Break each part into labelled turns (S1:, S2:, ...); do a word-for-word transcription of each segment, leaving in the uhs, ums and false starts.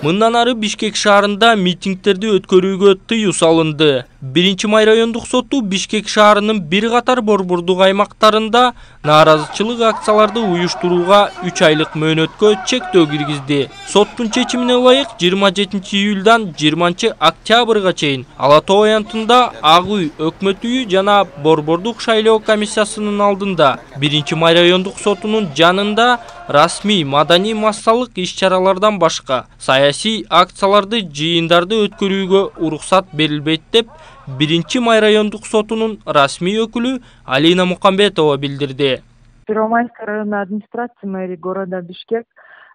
S1: Мындан ары Бишкек шаарында митингтерди өткөрүүгө тыюу салынды. биринчи май райондук соту Бишкек шаарынын бир катар борбордук аймактарында нааразычылык акцияларды уюштурууга үч айлык мөөнөткө чектөө киргизди. Соттун чечимине ылайык жыйырма жетинчи июлдан жыйырманчы октябрга чейин Ала Тоо аянтында Ак үй, Өкмөт үйү жана борбордук шайлоо комиссиясынын алдында биринчи май райондук сотунун жанында расмий маданий массалык иш-чаралардан башка саясий акцияларды, жыйындарды өткөрүүгө уруксат берилбейт деп биринчи май райондук сотунун расмий өкүлү Алина Мукамбетова билдирди.
S2: Первомайская районная администрация мэрии города Бишкек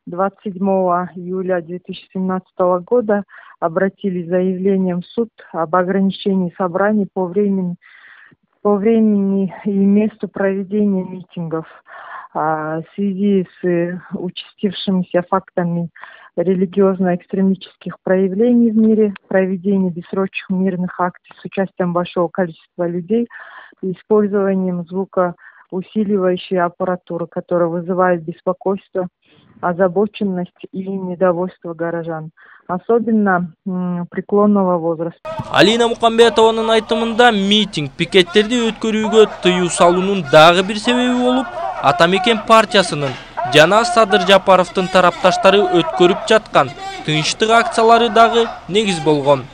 S2: двадцать седьмого июля две тысячи семнадцатого года обратились с заявлением в суд об ограничении собраний по времени, по времени и месту проведения митингов в связи с участившимися фактами религиозно-экстремистских проявлений в мире, проведения бессрочных мирных акций с участием большого количества людей и использованием звукоусиливающей аппаратуры, которая вызывает беспокойство, озабоченность и недовольство горожан, особенно преклонного возраста.
S1: Алина Мукамбетованын айтымында митинг, пикеттерди өткөрүүгө тыюу салуунун дагы бир себеби болуп, Атамекен партиясынын жана Садыр Жапаровдун тарапташтары өткөрүп жаткан тынчтык акциялары дагы негиз болгон.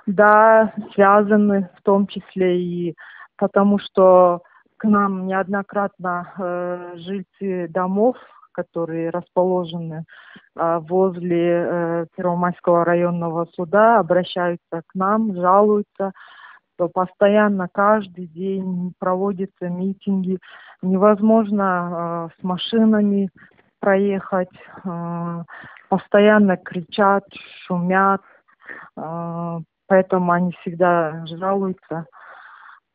S2: Да, связаны в том числе и потому, что к нам неоднократно э, жильцы домов, которые расположены э, возле э, Первомайского районного суда, обращаются к нам, жалуются, что постоянно каждый день проводятся митинги, невозможно э, с машинами проехать, э, постоянно кричат, шумят, э, поэтому они всегда жалуются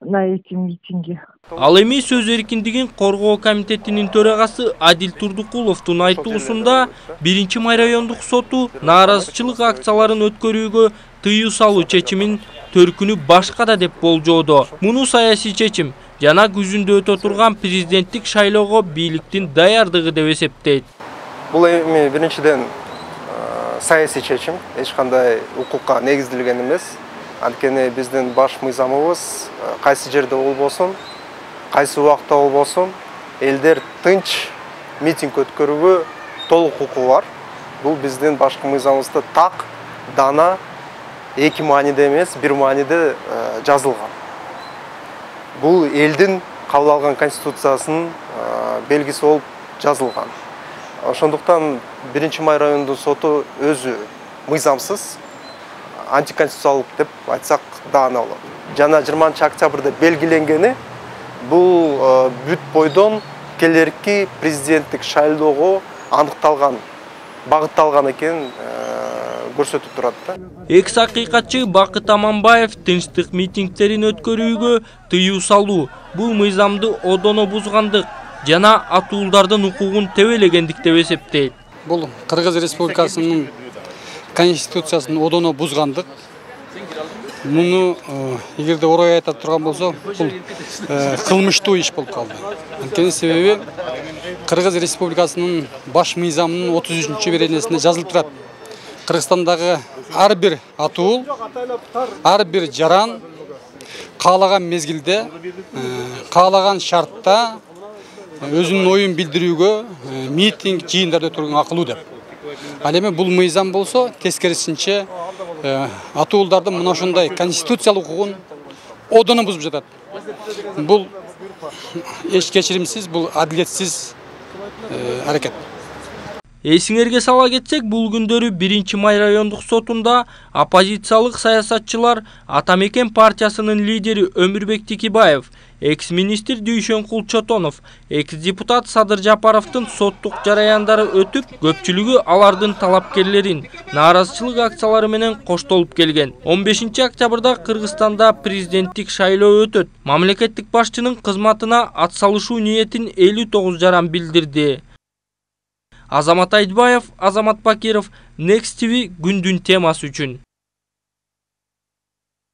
S2: на эти митинги.
S1: Ал эми сөз эркиндигин коргоо комитетинин төрагасы Адил Турдукуловдун айтуусунда биринчи май райондук соту нааразычылык акцияларын өткөрүүгө тыюу салуу чечимин төркүнү башка да деп болжоодо. Муну саясий чечим жана күзүндө өтө турган президенттик шайлоого бийликтин даярдыгы деп эсептейт.
S3: Бул эми биринчиден саясий чечим, эч кандай укукка негизделген эмес. Анткени биздин баш мыйзамыбыз кайсы жерде болбосун, кайсы убакта болбосун, элдер тынч митинг өткөрүүгө толук укугу бар. Бул биздин башкы мыйзамыбызда так, дана, эки мааниде эмес, бир мааниде жазылган. Бул элдин кабыл алган конституциясынын белгиси болуп жазылган. Ошондуктан биринчи май райондук соту өзү мыйзамсыз, антиконституциялык деп айтсак даана болот. Жана жыйырманчы октябрда белгиленгени бул бүт бойдон келерки президенттик шайлоого аныкталган, багытталган экенин көрсөтүп турат да.
S1: Экс акыйкатчы Бакыт Аманбаев тынчтык митингтерин өткөрүүгө тыюу салуу бул мыйзамды одоно бузгандык жана атуулдардын укугун тебелегендик деп эсептейт.
S4: Бул Кыргыз Республикасынын конституциясын одоно бузгандык. Муну эгерде орой айта турган болсо, бул кылмыштуу иш болуп калды. Анткени себеби Кыргыз Республикасынын баш мыйзамынын отуз үчүнчү беренесинде жазылып турат. Кыргызстандагы ар бир атуул, ар бир жаран каалаган мезгилде, каалаган шартта өзүнүн оюн билдирүүгө митинг, жыйындар өткөрүүгө акылуу деп. Ал эми бул мыйзам болсо, тескерисинче атуулдардын мына ошондой конституциялык укугун одоно бузуп жатат. Бул эч кечиримсиз, бул адилетсиз аракет.
S1: Эсиңерге сала кетсек, бул күндөрү биринчи май райондук сотунда оппозициялык саясатчылар Атамекен партиясынын лидери Өмүрбек Тикибаев, экс-министр Дүйшөнкул Чотонов, экс-депутат Садыр Жапаровдун соттук жараяндары өтүп, көпчүлүгү алардын талапкерлерин нааразычылык акциялары менен коштолуп келген. он бешинчи октябрда Кыргызстанда президенттик шайлоо өтөт. Мамлекеттик башчынын кызматына атсалышуу ниетин элүү тогуз жаран билдирди. Азамат Айтбаев, Азамат Бакиров, Next ти ви күндүн темасы үчүн.